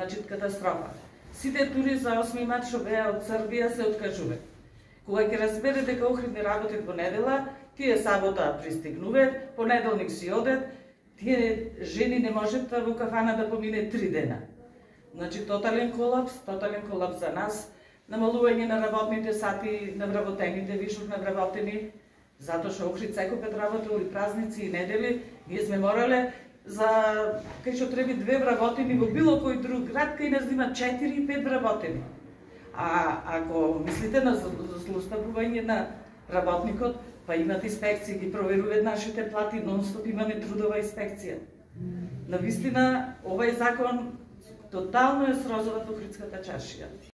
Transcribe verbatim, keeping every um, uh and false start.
Значи, катастрофа. Сите тури за осми март што беа од Србија се откажува. Кога ќе разбере дека Охрид не работи во недела, тие сабота пристигнуваат, понеделник си одат, тие жени не можат во кафана да помине три дена. Значи, тотален колапс, тотален колапс за нас, намалување на работните сати, на вработените, вишок на вработени, затоа што Охрид секој пет работа или празници и недели, ние сме морале за кај што треба две вработени во било кој друг град, кај нас има четири и пет вработени. А ако мислите на злоупотребување на работникот, па имат инспекции, ги проверуваат нашите плати, нон-стоп имаме трудова инспекција. Навистина, овај закон тотално е срозува Охридската чаршија.